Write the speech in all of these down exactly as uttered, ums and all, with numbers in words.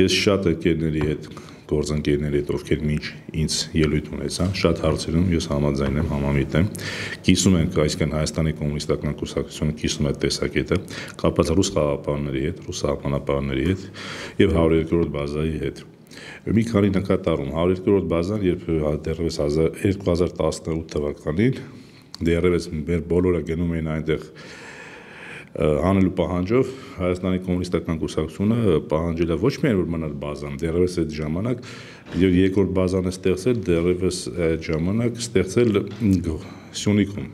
Ես շատ ընկերների հետ, գործընկերների հետ, ովքեր մինչ ինձ ելույթ ունեցան, շատ հարցերում ես համաձայն եմ, համամիտ եմ։ Կիսում ենք, այսինքն Հայաստանի կոմունիստական կուսակցությունը կիսում է տեսակետը, կապված ռուս խաղաղապահների հետ, ռուս սահմանապահների հետ եւ հարյուր երկրորդ բազայի հետ։ Մի քանի նկատառում հարյուր երկրորդ բազան, երբ դեռևս երկու հազար տասնութ թվականին դեռևս մեր բոլորը գնում էին այնտեղ անելու պահանջով, Հայաստանի կոմունիստական կուսակցությունը պահանջել է ոչ միայն որ մնալ բազան, դեռևս այդ ժամանակ երկրորդ բազան է ստեղծել, դեռևս այդ ժամանակ ստեղծել Սյունիքում։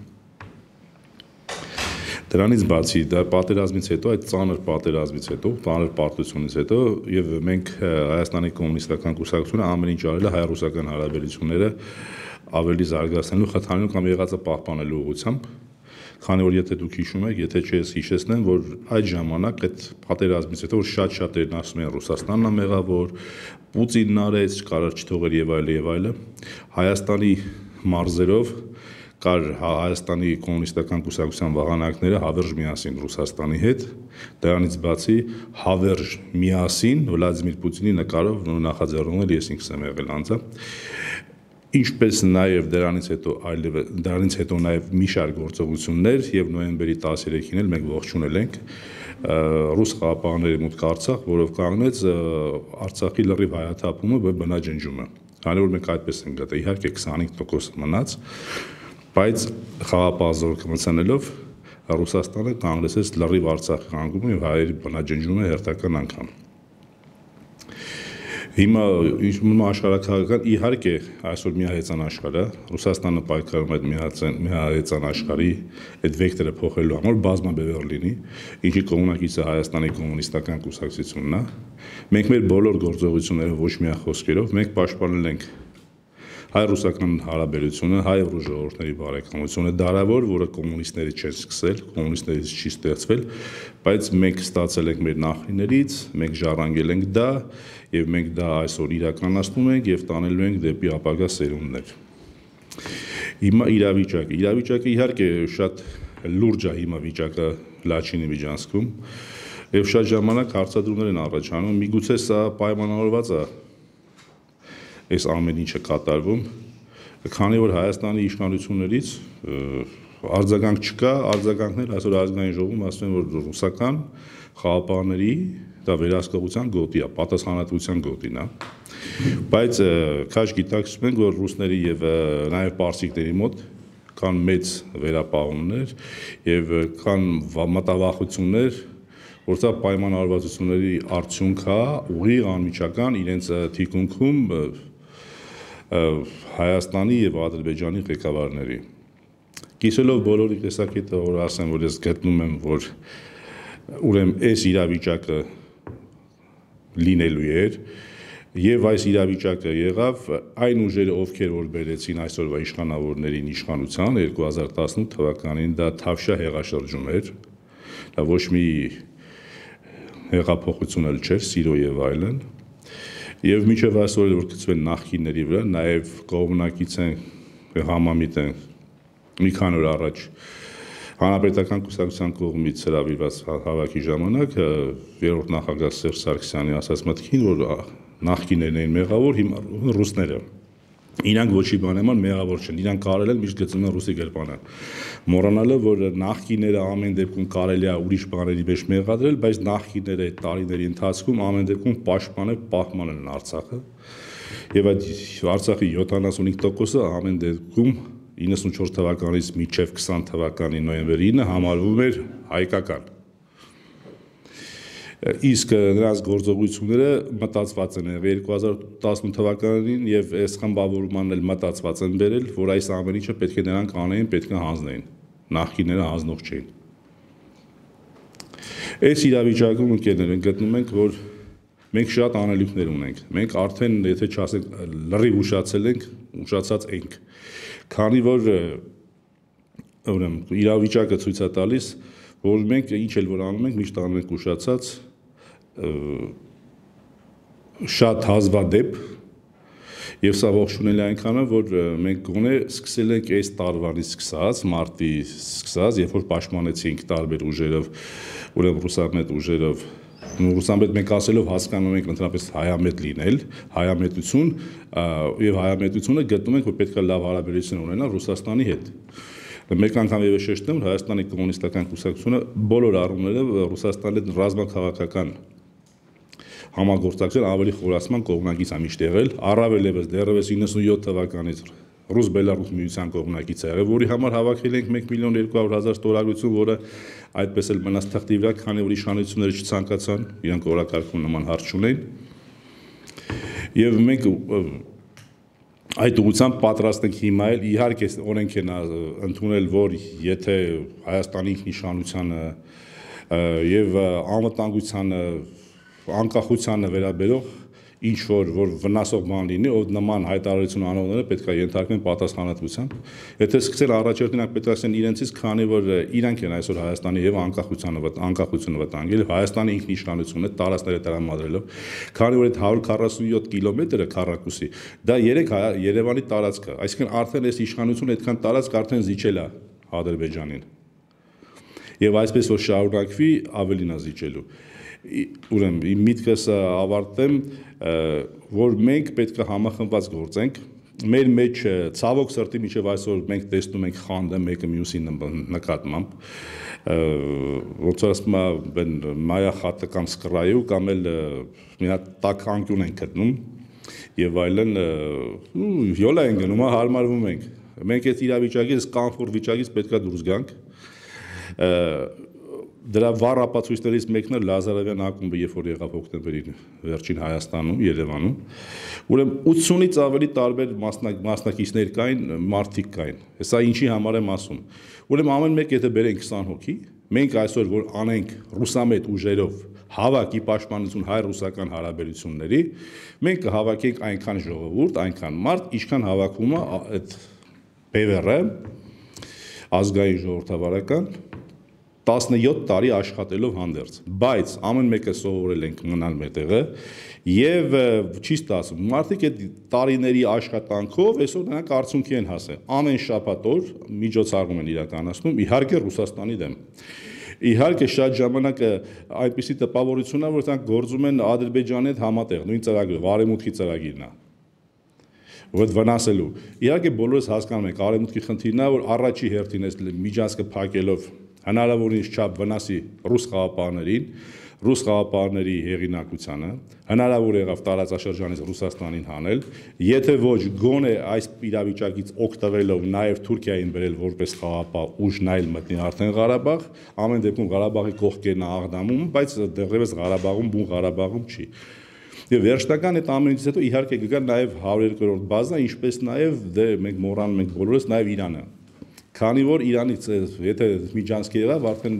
Դրանից բացի, դա պատերազմից հետո, այդ ծանր պատերազմից հետո, ծանր պարտությունից հետո եւ մենք Հայաստանի կոմունիստական կուսակցությունը ամեն ինչ արել է հայ-ռուսական հարաբերությունները ավելի զարգացնելու, խթանելու կամ եղածը պահպանելու ուղղությամբ։ Քանի որ եթե դուք հիշում եք, եթե չես հիշեցնեմ, որ այդ ժամանակ այդ պատերազմից հետո որ շատ-շատերն ասում են Ռուսաստանն է մեղավոր, Պուտինն արեց, կարար չթողեր եւ այլ եւ այլը, Հայաստանի մարզերով կար Հայաստանի կոմունիստական կուսակցության վահանակները հավերժ միասին Ռուսաստանի հետ, դրանից բացի հավերժ միասին Վլադիմիր Պուտինի նկարով նախաձեռնվել ես ինքս եմ եղել անձը, ինչպես նաև դրանից հետո այլ դրանից հետո նաև մի շարք գործողություններ եւ նոյեմբերի տասներեքին էլ մենք ողջունել ենք ռուս խաղաղապահների մուտք Արցախ, որով կանգնեց Արցախի լրիվ հայաթափումը եւ բնաջնջումը։ Քանի որ մենք այդպես ենք գտել, իհարկե քսանհինգ տոկոս մնաց, բայց խաղաղապահ զորքմցանելով Ռուսաստանը կանգնեցեց լրիվ Արցախի հանգումը եւ հայերի բնաջնջումը հերթական անգամ։ Հիմա աշխարհակաղակական իհարկե այսօր միահեծան աշխարհը, Ռուսաստանը պայքարում է այդ միահեծան աշխարհի այդ վեկտորը փոխելու համար բազմաբևեռ լինի, ինչի կողմնակիցը Հայաստանի կոմունիստական կուսակցությունն է։ Մենք մեր բոլոր գործողությունները ոչ միայն խոսքերով, մենք պաշտպանել ենք հայ-ռուսական հարաբերությունը, հայ-ռուս ժողովուրդների բարեկամությունը, դարավոր, որը կոմունիստները չեն սկսել, կոմունիստներից չի ստեղծվել, բայց մենք ստացել ենք մեր նախնիներից, մենք ժառանգել ենք դա եւ մենք դա այսօր իրականացնում ենք եւ տանելու ենք դեպի ապագա սերունդներ։ Հիմա իրավիճակը, իրավիճակը իհարկե շատ լուրջ է հիմա վիճակը Լաչինի միջանցքում եւ շատ ժամանակ հարցադրումներ են առաջանում, միգուցե սա պայմանավորված է այս ամեն ինչը կատարվում, քանի որ Հայաստանի իշխանություններից արձագանք չկա, արձագանքներ այսօր ազգային ժողովում ասում են, որ ռուսական խաղաղապահների դա վերահսկողության գոտի է, պատասխանատվության գոտին է, բայց քաջ գիտակցում ենք, որ ռուսների եւ նաեւ պարսիկների մոտ կան մեծ վերապահումներ եւ կան մտավախություններ, որ սա պայմանավորվածությունների արդյունք է, ուղիղ անմիջական իրենց թիկունքում Հայաստանի եւ Ադրբեջանի ղեկավարների։ Կիսելով բոլորի տեսակետը, որ ասեմ, որ ես գտնում եմ, որ ուրեմն այս իրավիճակը լինելու էր եւ այս իրավիճակը եղավ այն ուժերը, ովքեր որ բերեցին այսօրվա իշխանավորներին իշխանության երկու հազար տասնութ թվականին, դա Թավշյա հեղաշրջում էր, դա ոչ մի հեղափոխություն էլ չէր, սիրո եւ այլն։ Եվ միջև այսօր որ գծվել նախկինների վրա, նաև կողմնակից են համամիտ են մի քանի օր առաջ Հանրապետական կուսակցության կողմից հրավիրված հավաքի ժամանակ երրորդ նախագահ Սերժ Սարգսյանի ասած մտքին, որ նախկիններն էին մեղավոր, հիմա ռուսները։ Իրանք ոչի բան նման մեղավոր չեն, իրանք կարել են միշտ գծում են ռուսի գրպանը։ Մոռանալով, որ նախկինները ամեն դեպքում կարելի է ուրիշ բաների մեջ մեղադրել, բայց նախկինները այդ տարիների ընթացքում ամեն դեպքում պաշտպանել, պահպանել են Արցախը։ Եվ այդ Արցախի յոթանասունհինգ տոկոսը ամեն դեպքում իննսունչորս թվականից մինչև քսան թվականի նոյեմբերի ինը համարվում էր հայկական։ Իսկ նրանց գործողությունները մտածված են երկու հազար տասնութ թվականին եւ այս խմբավորմանն էլ մտածված են բերել, որ այս ամեն ինչը պետք է նրանք անեին, պետք է հանձնեին, նախկինները հանձնող չէին։ Այս իրավիճակում ընկերներ գտնում ենք, որ մենք շատ անելիքներ ունենք։ Մենք արդեն, եթե չասենք լրիվ ուշացել ենք, ուշացած ենք։ Քանի որ ուրեմն իրավիճակը ցույց է տալիս, որ մենք ինչ էլ որ անում ենք, միշտ անում ենք ուշացած շատ հազվադեպ եւ սա ողջունելի այնքան է, որ մենք գոնե սկսել ենք այս տարվանից սկսած, մարտի սկսած, երբ որ պաշտպանեցինք տարբեր ուժերով, ուրեմն ռուսամետ ուժերով Ռուսամետ մենք ասելով հասկանում ենք ընդհանրապես հայամետ լինել, հայամետություն եւ հայամետությունը գտնում ենք, որ պետք է լավ հարաբերություն ունենա Ռուսաստանի հետ։ Մեկ անգամ եւս շեշտեմ, որ Հայաստանի կոմունիստական կուսակցությունը բոլոր առումներով Ռուսաստանի հետ ռազմաքաղաքական համագործակցության ավելի խորացման կողմնակից է միշտ եղել, առավել եւս դեռևս իննսունյոթ թվականից Ռուս-Բելարուս միության կողմնակից է եղել, որի համար հավաքել ենք մեկ միլիոն երկու հարյուր հազար ստորագրություն, որը այդպես էլ մնաց թղթի վրա, քանի որ իշխանությունները չցանկացան, իրանք օրակարգում նման հարց չունեն։ Եվ մենք այդ ուղղությամբ պատրաստ ենք հիմա էլ, իհարկե օրենք են ընդունել, որ եթե Հայաստանի ինքնիշխանությանը եւ անվտանգությանը, անկախությանը վերաբերող ինչ որ որ վնասող բան լինի, ով նման հայտարարություն անողները պետք է ենթարկվեն պատասխանատվության։ Եթե սկսել առաջերտինակ պետք է ասեն իրենցից, քանի որ իրանք են այսօր Հայաստանի եւ անկախությանը անկախությունը վտանգել, Հայաստանի ինքնիշխանությունը տարածքները տրամադրելով, քանի որ այդ հարյուր քառասունյոթ կիլոմետրը քառակուսի, դա երեք Երևանի տարածք է, այսինքն արդեն այս իշխանությունը այդքան տարածք արդեն զիջել է Ադրբեջանին։ Եվ այսպես որ շարունակվի, ավելին է զիջելու։ Ուրեմն իմ միտքս ավարտեմ, որ մենք պետք է համախմբված գործենք, մեր մեջ ցավոք սրտի մինչև այսօր մենք տեսնում ենք խանդը մեկը մյուսի նկատմամբ, ոնց որ ասում են մայա խատը կամ սկրայու կամ էլ մի հատ տաք անկյուն են գտնում եւ այլն, յոլա են գնում, հարմարվում ենք։ Մենք այդ իրավիճակից, կոմֆորտ վիճակից պետք է դուրս գանք։ Դրա վառ ապացույցներից մեկն է Լազարևյան ակումբը, երբ որ եղավ հոկտեմբերի վերջին Հայաստանում, Երևանում, ուրեմն ութսունից ավելի տարբեր մասնակիցներ կային, մարդիկ կային։ Հեսա ինչի համար եմ ասում։ Ուրեմն ամեն մեկ եթե բերենք քսան հոգի, մենք այսօր որ անենք ռուսամետ ուժերով հավաքի պաշտպանություն հայ-ռուսական հարաբերությունների, մենք կհավաքենք այնքան ժողովուրդ, այնքան մարդ, ինչքան հավաքում է այդ բևեռը, ազգային ժողովրդավարական տասնյոթ տարի աշխատելով հանդերձ, բայց ամեն մեկը սովորել ենք մնալ մետեղը եւ չի ստացվում։ Մարդիկ այդ տարիների աշխատանքով այսօր նրանք արդյունքի են հասել։ Ամեն շաբաթ օր միջոցառում են իրականացնում, իհարկե Ռուսաստանի դեմ։ Իհարկե շատ ժամանակ այնպիսի տպավորություն է, որ նրանք գործում են Ադրբեջանի հետ համատեղ, նույն ծրագրով, Արևմուտքի ծրագիրն է։ Որ վնասելու։ Իհարկե բոլորս հասկանում ենք, Արևմուտքի խնդիրն է, որ առաջի հերթին այս միջանցքը փակելով հնարավորինս չափ վնասի ռուս խաղապարներին, ռուս խաղապարների հեղինակությանը, հնարավոր եղավ տարածաշրջանից Ռուսաստանին հանել, եթե ոչ գոնե այս իրավիճակից օգտվելով նաև Թուրքիային բերել որպես խաղապահ ուժ նայել մտնի արդեն Ղարաբաղ, ամեն դեպքում Ղարաբաղի կողքերն աղդամում, բայց դեռևս Ղարաբաղում բուն Ղարաբաղում չի։ Եվ վերջնական այդ ամենից հետո իհարկե կգա նաև հարյուր երկրորդ բազա, ինչպես նաև դե մենք մոռանում ենք բոլորս նաև Իրանը։ Քանի որ Իրանից եթե միջանցք եղավ, արդեն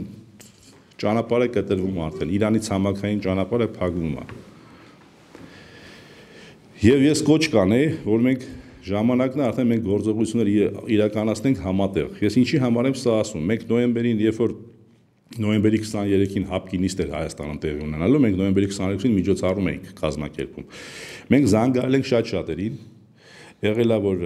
ճանապարհը կտրվում արդեն, Իրանից համակային ճանապարհը փակվում է։ Եվ ես կոչ կանեի, որ մենք ժամանակն է արդեն մենք գործողություններ իրականացնենք համատեղ։ Ես ինչի համար եմ սա ասում, մենք նոյեմբերին, երբ որ նոյեմբերի քսաներեքին հապկի նիստ էր Հայաստանում տեղի ունենալու, մենք նոյեմբերի քսաներեքին միջոցառում էինք կազմակերպում։ Մենք զանգահարել ենք շատ շատերին, եղել է որ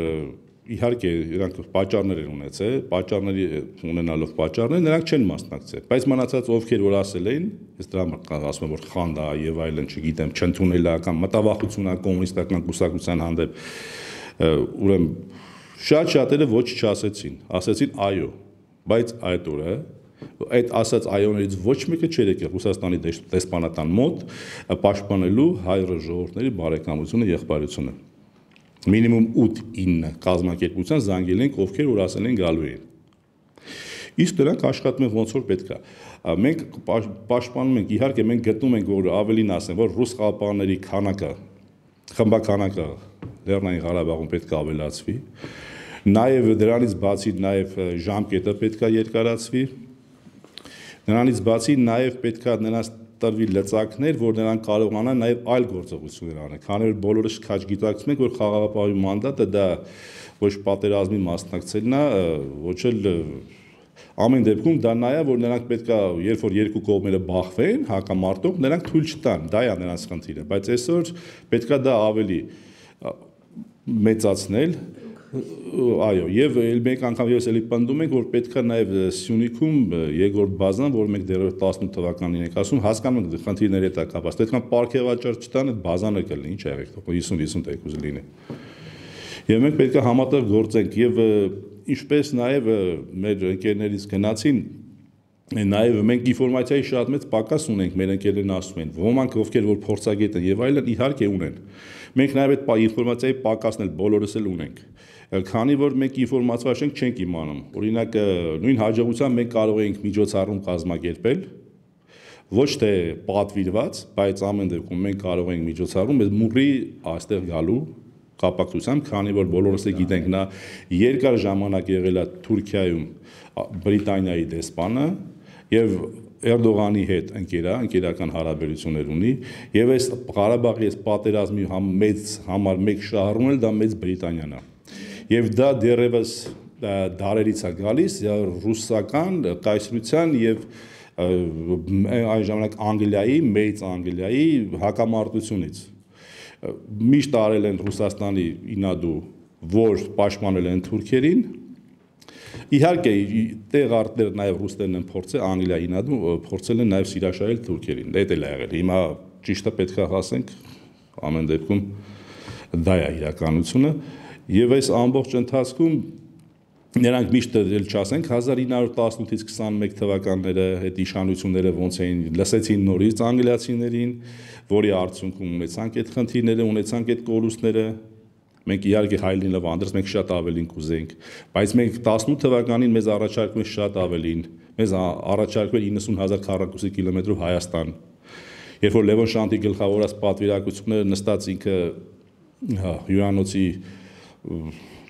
իհարկե իրանք պատճառներ են ունեցել, պատճառների ունենալով պատճառներ նրանք չեն մասնակցել, բայց մնացած ովքեր որ ասել էին, ես դրա համար ասում եմ որ խանդ է եւ այլն, չգիտեմ, չընդունել է կամ մտավախություն է կոմունիստական կուսակցության հանդեպ, ուրեմն շատ շատերը ոչ չասեցին, ասեցին այո, բայց այդ օրը այդ ասած այոներից ոչ մեկը չէր եկել Ռուսաստանի դեսպանատան մոտ պաշտպանելու հայ ժողովուրդների բարեկամությունը, եղբայրությունը։ Մինիմում ութ ինը կազմակերպության զանգել ենք, ովքեր որ ասել են գալու են։ Իսկ դրանք աշխատում են ոնց որ պետք է։ Մենք պաշտպանում ենք, իհարկե մենք գտնում ենք, որ ավելին ասեն, որ ռուս խաղապահների քանակը, խմբականակը Լեռնային Ղարաբաղում պետք է ավելացվի։ Նաև դրանից բացի նաև ժամկետը պետք է երկարացվի։ Նրանից բացի նաև պետք է նրանց տրվի լծակներ, որ նրանք կարողանան նաև այլ գործողություններ անել, քանի որ բոլորս քաջ գիտակցում ենք, որ խաղաղապահի մանդատը դա ոչ պատերազմի մասնակցելն է, ոչ էլ ամեն դեպքում դա նա է, որ նրանք պետք է, երբ որ երկու կողմերը բախվեն, հակամարտող, նրանք թույլ չտան, դա է նրանց խնդիրը, բայց այսօր պետք է դա ավելի մեծացնել, Այո, եւ ել մեկ անգամ ես էլի պնդում ենք, որ պետք է նաեւ Սյունիքում երկրորդ բազան, որ մենք դեռ տասնութ թվականին ենք ասում, հասկանում ենք խնդիրների հետ կապված, պետք է պարգևաճառ չտան, այդ բազանը կլինի, ինչ եղեք, հիսուն հիսուն տեկուզ լինի։ Եվ մենք պետք է համատեղ գործենք եւ ինչպես նաեւ մեր ընկերներից գնացին, նաեւ մենք ինֆորմացիայի շատ մեծ պակաս ունենք, մեր ընկերներն ասում են, ոմանք ովքեր որ փորձագետ են եւ այլն իհարկե ունեն։ Մենք նաեւ այդ ինֆորմացիայի պակասն էլ բոլորս էլ ունենք։ Քանի որ մենք ինֆորմացիա շենք չենք իմանում։ Օրինակ նույն հաջողությամբ մենք կարող ենք միջոցառում կազմակերպել, ոչ թե պատվիրված, բայց ամեն դեպքում մենք կարող ենք միջոցառում այս մուրի այստեղ գալու կապակցությամբ, քանի որ բոլորս էլ գիտենք նա երկար ժամանակ եղել է Թուրքիայում Բրիտանիայի դեսպանը եւ Էրդողանի հետ ընկերա, ընկերական հարաբերություններ ունի եւ այս Ղարաբաղի այս պատերազմի համ մեծ համար մեկ շահառուն էլ դա մեծ Բրիտանիան է։ Եվ դա դեռևս դարերից է գալիս ռուսական կայսրության եւ այն ժամանակ Անգլիայի, մեծ Անգլիայի հակամարտությունից։ Միշտ արել են Ռուսաստանի ինադու, որ պաշտպանել են թուրքերին։ Իհարկե տեղ արտեր նաև ռուսներն են փորձել Անգլիայի ինադու փորձել են նաև սիրաշահել թուրքերին։ Դա էլ է եղել։ Հիմա ճիշտը պետք է ասենք ամեն դեպքում դա է իրականությունը։ Եվ այս ամբողջ ընթացքում նրանք միշտ էլ չասենք հազար ինը հարյուր տասնութից քսանմեկ թվականները այդ իշխանությունները ոնց էին լսեցին նորից անգլիացիներին, որի արդյունքում ունեցանք այդ խնդիրները, ունեցանք այդ կորուստները։ Մենք իհարկե հայլին լվանդրս մենք շատ ավելին կուզենք, բայց մենք տասնութ թվականին մեզ առաջարկում են շատ ավելին, մեզ առաջարկվել իննսուն հազար քառակուսի կիլոմետրով Հայաստան։ Երբ որ Լևոն Շանտի գլխավորած պատվիրակությունները նստած ինքը հյուրանոցի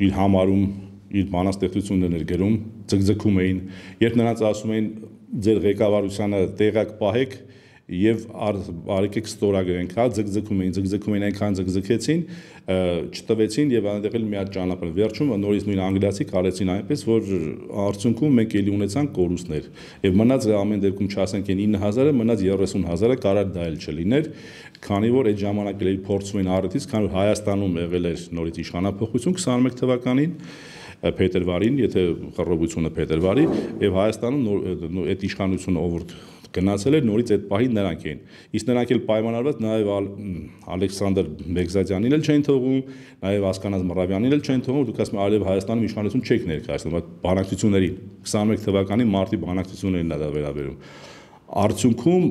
իր համարում իր բանաստեղծություններն էր գրում, ձգձգում էին, երբ նրանց ասում էին ձեր ղեկավարությանը տեղակ պահեք եւ արեկեք ստորագրենք, հա ձգձգում էին, ձգձգում էին այնքան ձգձգեցին, չտվեցին եւ այնտեղ էլ մի հատ ճանապարհ վերջում նորից նույն անգլիացի կարեցին այնպես, որ արդյունքում մենք էլի ունեցանք կորուստներ եւ մնաց ամեն դեպքում չասենք այն ինը հազարը, մնաց երեսուն հազարը, կարար դա էլ չլիներ, քանի որ այդ ժամանակ էլ փորձում էին առիթից, քանի որ Հայաստանում եղել էր նորից իշխանապողություն քսանմեկ թվականին փետրվարին, եթե խռովությունը փետրվարի, եւ Հայաստանում այդ իշխանությունը ով գնացել էր նորից այդ պահին նրանք էին։ Իսկ նրանք էլ պայմանավորված նաեւ Ալեքսանդր Բեգզադյանին էլ չեն թողում, նաեւ Ասկանազ Մռավյանին էլ չեն թողում, դուք ասում եք այլև Հայաստանում իշխանություն չեք ներկայացնում, այդ բանակցություններին քսանմեկ թվականի մարտի բանակցություններին դա վերաբերում։ Արդյունքում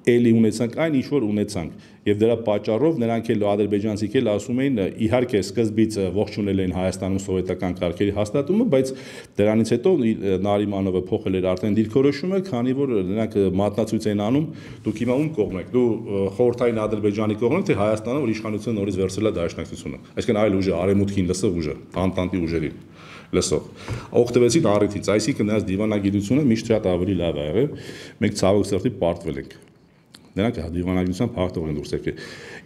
էլի ունեցանք այն ինչ որ ունեցանք եւ դրա պատճառով նրանք էլ ադրբեջանցիք էլ ասում էին իհարկե սկզբից ողջունել են Հայաստանում սովետական կարգերի հաստատումը, բայց դրանից հետո Նարիմանովը փոխել էր արդեն դիրքորոշումը, քանի որ նրանք մատնացույց են անում, դուք հիմա ում կողմ եք, դու խորհրդային Ադրբեջանի կողմ եք, թե Հայաստանը, որ իշխանությունը նորից վերցրել է դաշնակցությունը, այսինքն այլ ուժը, արևմուտքին լսող ուժը, անտանտի ուժերին լսող օգտվեցին առիթից, այսինքն նրանց դիվանագիտությունը միշտ շատ ավելի լավ է եղել, մենք ցավոք սրտի պարտվել ենք։ Նրանք դիվանագիտությամբ հաղթող են դուրս եկել։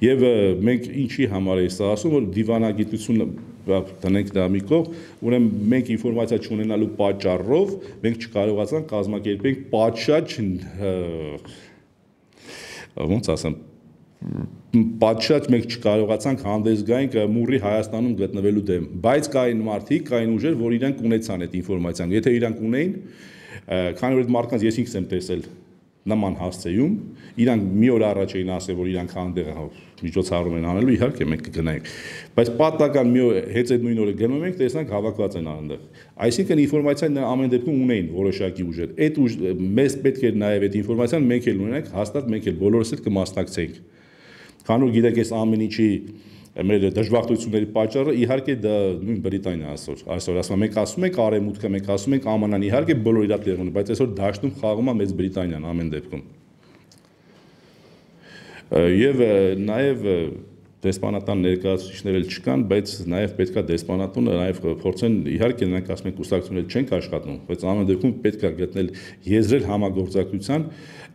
Եվ մենք ինչի համար է սա ասում, որ դիվանագիտությունը տնենք դա մի կողմ, ուրեմն մենք ինֆորմացիա չունենալու պատճառով մենք չկարողացանք կազմակերպենք պատշաճ ոնց ասեմ պատշաճ մենք չկարողացանք հանդես գայինք մուրի Հայաստանում գտնվելու դեմ, բայց կային մարդիկ, կային ուժեր, որ իրանք ունեցան այդ ինֆորմացիան։ Եթե իրանք ունեին, քանի որ այդ մարդկանց ես ինքս եմ տեսել նման հասցեում, իրանք մի օր առաջ էին ասել, որ իրանք հանդեղ միջոցառում են անելու, իհարկե մենք կգնայինք, բայց պատմական մի օր հենց այդ նույն օրը գնում ենք, տեսնանք հավաքված են այնտեղ։ Այսինքն ինֆորմացիան ամեն դեպքում ունեին որոշակի ուժեր։ Այդ ուժ մեզ պետք էր նաև այդ ինֆորմացիան մենք էլ ունենանք, հաստատ մենք էլ բոլորս էլ կմասնակցեինք։ Քանի որ գիտեք, այս ամեն ինչի մեր դժբախտությունների պատճառը իհարկե դա նույն Բրիտանիա այսօր այսօր ասում մենք ասում ենք արևմուտքը մենք ասում ենք Ամանան իհարկե բոլոր իրար տեղ ունի, բայց այսօր դաշտում խաղում է մեծ Բրիտանիան ամեն դեպքում։ Եվ նաև դեսպանատան ներկայացուցիչներ էլ չկան, բայց նաև պետքա դեսպանատունը նաև փորձեն իհարկե նրանք ասում են կուսակցությունները չենք աշխատում, բայց ամեն դեպքում պետքա գտնել եզրել համագործակցության,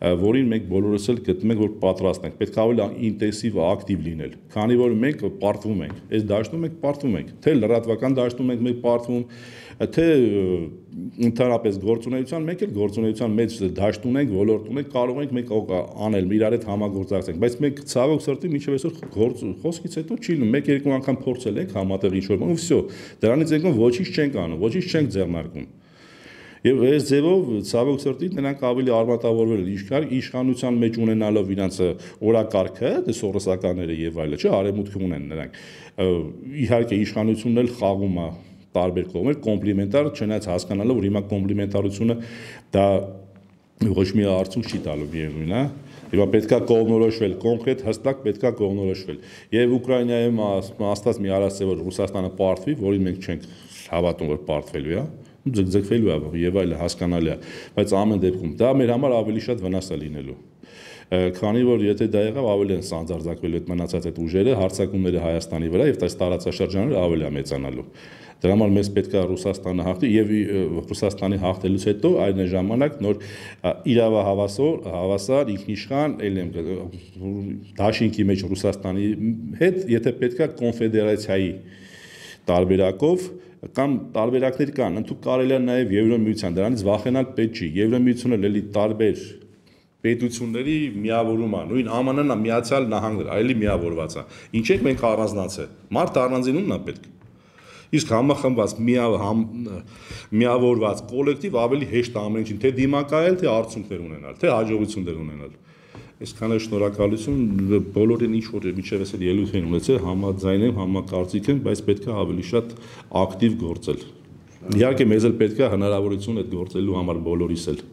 որին մենք բոլորս էլ գտնում ենք, որ պատրաստ ենք, պետք է ավելի ինտենսիվ ակտիվ լինել, քանի որ մենք պարտվում ենք, այս դաշտում մենք պարտվում ենք, թե լրատվական դաշտում ենք մենք պարտվում, թե ընդհանրապես գործունեության, մեկ էլ գործունեության մեջ դաշտ ունենք, ոլորտ ունենք, կարող ենք մենք անել, իրար հետ համագործակցենք, բայց մենք ցավոք սրտի մինչև այսօր գործ խոսքից հետո չի լինում, մեկ-երկու անգամ փորձել ենք համատեղ ինչ-որ բան, ու վсё, դրանից եկող ոչինչ չենք անում, ոչինչ չենք ձեռնարկում։ Եվ այս ձևով ցավոք սրտի նրանք ավելի արմատավորվել են իշխանության մեջ ունենալով իրանց օրակարգը, դե սորոսականները եւ այլը, չէ, արևմուտքում ունեն նրանք։ Իհարկե իշխանությունն էլ խաղում է տարբեր կողմեր, կոմպլիմենտար, չնայած հասկանալով, որ հիմա կոմպլիմենտարությունը դա ոչ մի արդյունք չի տալու միևնույն է։ Հիմա պետքա կողմնորոշվել, կոնկրետ հստակ պետքա կողմնորոշվել։ Եվ Ուկրաինայում աստված մի արած է, որ Ռուսաստանը պարտվի, որին մենք չենք հավատում, որ պարտվելու է, ձգձգվելու է եւ այլը հասկանալի է, բայց ամեն դեպքում դա մեր համար ավելի շատ վնաս է լինելու։ Քանի որ եթե դա եղավ, ավելի են սանձարձակվելու այդ մնացած այդ ուժերը, հարձակումները Հայաստանի վրա եւ այս տարածաշրջանները ավելի է մեծանալու։ Դրա համար մեզ պետք է Ռուսաստանը հաղթի եւ Ռուսաստանի հաղթելուց հետո այն ժամանակ նոր իրավահավասար, հավասար ինքնիշխան ելեմ դաշինքի մեջ Ռուսաստանի հետ, եթե պետք է կոնֆեդերացիայի տարբերակով կամ տարբերակներ կան, ընդհանուր կարելի է նաև Եվրամիության, դրանից վախենալ պետք չի։ Եվրամիությունը լելի տարբեր պետությունների միավորում է, նույն Α M N-ն Միացյալ Նահանգներ, այլի միավորված է։ Ինչ ենք մենք առանձնացել։ Մարդ առանձինումն է պետք։ Իսկ համախմբված, միավորված կոլեկտիվ ավելի հեշտ է ամեն ինչին, թե դիմակայել, թե արդյունքներ ունենալ, թե հաջողություններ ունենալ։ Այսքանը շնորհակալություն, բոլորին ինչ որ միջև էսել ելույթ են ունեցել, համաձայն եմ, համակարծիք եմ, բայց պետք է ավելի շատ ակտիվ գործել։ Իհարկե մեզ էլ պետք է հնարավորություն այդ գործելու համար բոլորիս էլ։